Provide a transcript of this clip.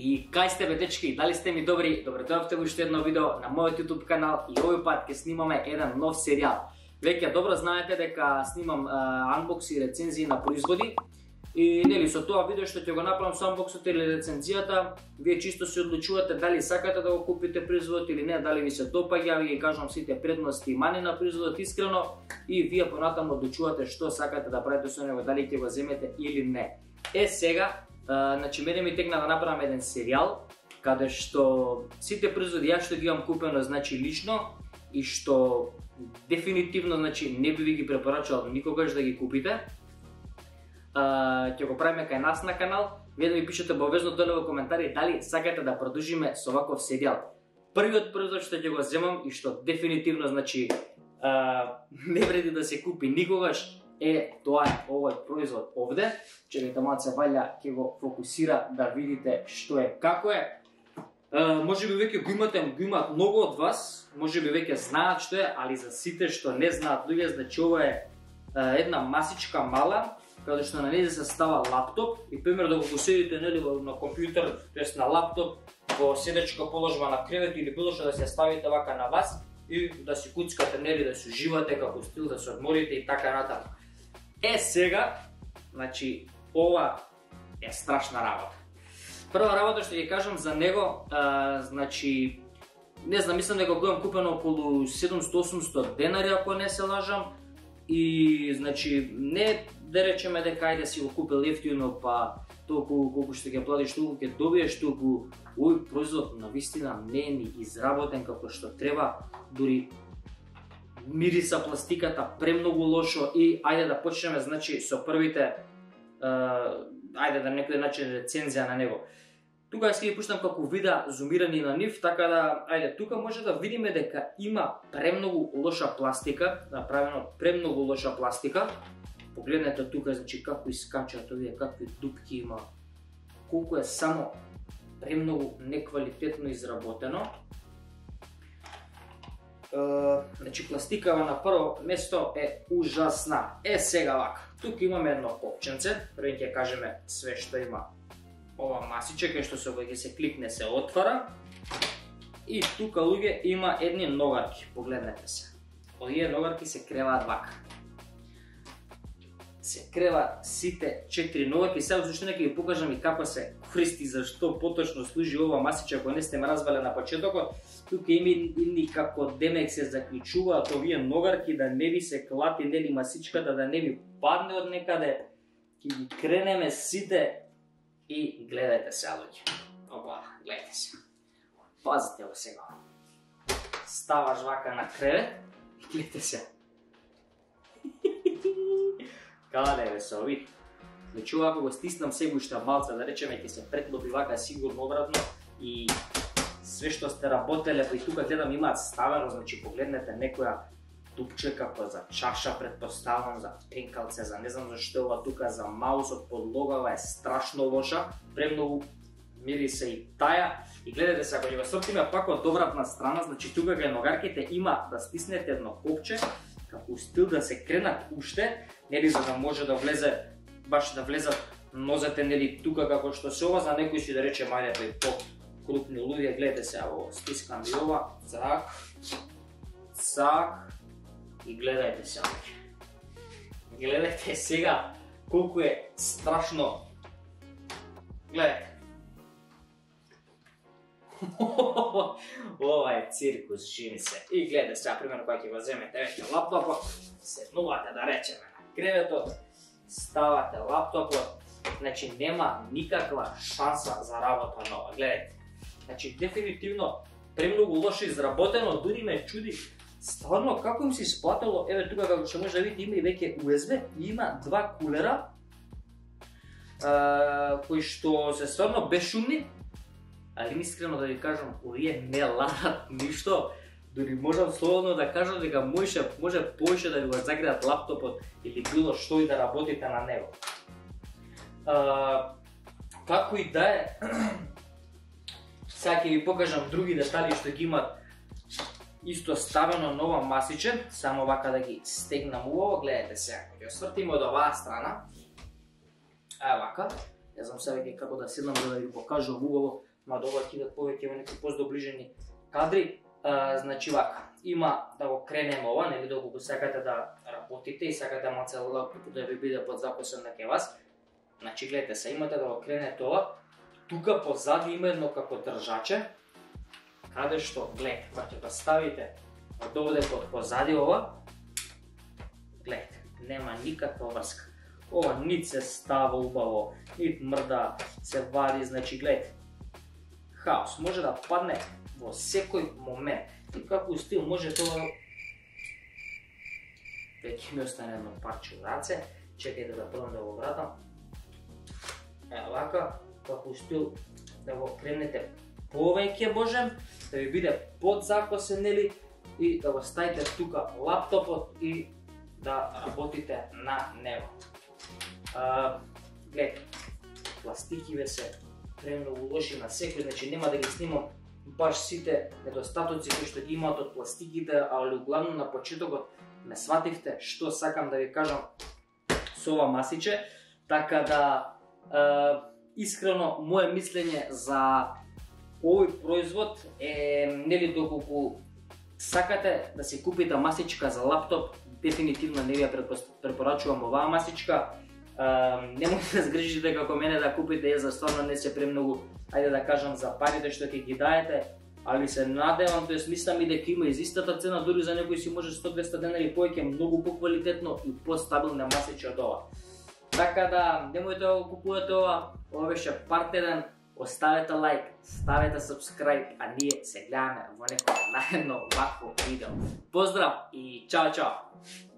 И кај сте бе дечки, дали сте ми добри? Добре дојавте во уште едно видео на мојот YouTube канал и овој пат ќе снимаме еден нов серијал. Веќе добро знаете дека снимам анбокс и рецензии на производи и нели со тоа видео што ќе го направам со анбоксот или рецензијата, вие чисто се одлучувате дали сакате да го купите производот или не, дали ви се допаѓа, ви ги кажам сите предности и мани на производот искрено и вие понатаму одлучувате што сакате да правите со него, дали ќе го земете или не. Сега значи мене ми текна да направам еден серијал каде што сите производи ја што ги имам купено значи лично и што дефинитивно значи не би ви ги препорачал никогаш да ги купите. Ќе го правиме кај нас на канал. Вие да ми пишете обавезно доле во коментари дали сакате да продолжиме со ваков серијал. Првиот производ што ќе го земам и што дефинитивно значи не вреди да се купи никогаш тоа е овој производ овде. Чекајте малце валја ќе го фокусира да видите што е, како е. Може би веќе го имаат многу од вас, може би веќе знаат што е, али за сите што не знаат луѓе, значи ова е една масичка мала, каде што на нејзе се става лаптоп и примерно кога го седите нели на компјутер, тоест на лаптоп, во седечка положба на кревет или било што да се ставите вака на вас и да си куцкате нели да се уживате како стил, да се одморите и така натаму. Сега, значи ова е страшна работа. Прва работа што ќе кажам за него, значи не знам, мислам дека го имам купено околу 700-800 денари ако не се лажам. И значи не да речеме дека ајде си го купил ефтино па толку колку што ќе платиш толку ќе добиеш, толку овој производ навистина не е ни изработен како што треба, дури мириса пластиката премногу лошо и ајде да почнеме значи со првите ајде да некој начин рецензија на него. Тука ќе ги пуштам како видеа зумирани на нив, така да ајде тука може да видиме дека има премногу лоша пластика, направено премногу лоша пластика. Погледнете тука значи како искачат овие, какви дупки има. Колку е само премногу неквалитетно изработено. Значи пластикава на прво место е ужасна. Сега вака. Тука имаме едно копченце, прво ќе кажеме све што има. Ова масиче кај што се кликне се отвара. И тука луѓе има едни ногарки, погледнете се. Овие ногарки се креваат вака. Се креваат сите 4 ногарки, сега суштина ќе ви покажам и како се користи, зашто поточно служи ова масиче, ако не сте ме разбале на почетокот. Тука има и како демек се заклучуваат овие ногарки да не ви се клати нели масичката, да не ви падне од некаде. Ќе ги кренеме сите и гледајте се луѓе. Опа, гледајте се. Пазите го сега. Ставаш вака на кревет и гледајте се. Каде бе се ови? Значи ако го стиснам сега уште малце, да речеме ќе се преклопи вака сигурно обратно и све што сте работеле, па и тука гледам имаат ставено, значи погледнете некоја дупче како за чаша, предпоставам, за пенкалце, за не знам зашто ова тука, за маусот, подлогава е страшно лоша, премногу мириса и таја. И гледате се, ако ќе го свртиме пак од обратна страна, значи тука кај ногарките има да стиснете едно копче, како стил да се кренат уште, нели за да може да влезе, баш да влезат нозете, нели тука како што се ова, за некој си да рече мајде па и по-крупни луѓе, гледате се, аво, стискам и ова, цак, цак, и гледајте се. Гледајте сега колку е страшно. Гледајте. Ова е циркус, жени се. И гледајте сега, примерно, кога ќе го земете веќе лаптопот, седнувате да речеме на креветот, ставате лаптопот, значи нема никаква шанса за работа нова. Гледајте. Значи дефинитивно премногу лошо изработено, дури ме чуди стварно како им се исплатело. Еве тука како што може да видите има и веќе USB и има два кулера кои што се стварно бесшумни, али искрено да ви кажам, овие не ладат ништо. Дури можам слободно да кажам дека може повеќе да ви го загреат лаптопот или било што и да работите на него. Како и да е, сега ќе ви покажам други детали што ги имат исто ставено нова масиче, само вака да ги стегнам убаво, гледате сега, ќе свртиме од оваа страна. Вака, не знам сега како да седнам за да ви покажам убаво ма да ова кидат повеќе во некои поздоближени кадри. Значи вака, има да го кренеме ова, нели доколку сакате да работите и сакате малце лаптопот да ви биде подзапосен на ке вас. Значи гледате се, имате да го кренете ова. Тука позади има едно како држаче, каде што, гледате, па ќе го ставите од овде под позади ова. Гледате, нема никаква врска. Ова нит се става убаво, нит мрда, се вади, значи гледате. Хаос, може да падне во секој момент. И како стил може тоа... Веќе ми остане едно парче у раце, чекајте да пробам да го вратам. Ево вака, како стил да го кренете повеќе божем, да ви биде подзакосен, нели, и да го ставите тука лаптопот и да работите на него. Гледайте, пластикиве се премногу лоши на секој, значи нема да ги снимам баш сите недостатоци кои што ги имаат од пластиките, али углавно на почетокот ме свативте што сакам да ви кажам со ова масиче, така да искрено моје мислење за овој производ е, нели, доколку сакате да си купите масичка за лаптоп, дефинитивно не ви ја препорачувам оваа масичка. Немојте да згрижите како мене да купите ја, за стварно не се премногу, ајде да кажам, за парите што ќе ги даете, али се надевам, тоест мислам и дека има изистата цена, дури за некој си може 100-200 денари повеќе, многу поквалитетно и постабилна масиче од ова. Така да, немојте да го купувате ова, ова беше парт 1, оставете лайк, ставете subscribe, а ние се гледаме во некој наредно вакво видео. Поздрав и чао чао!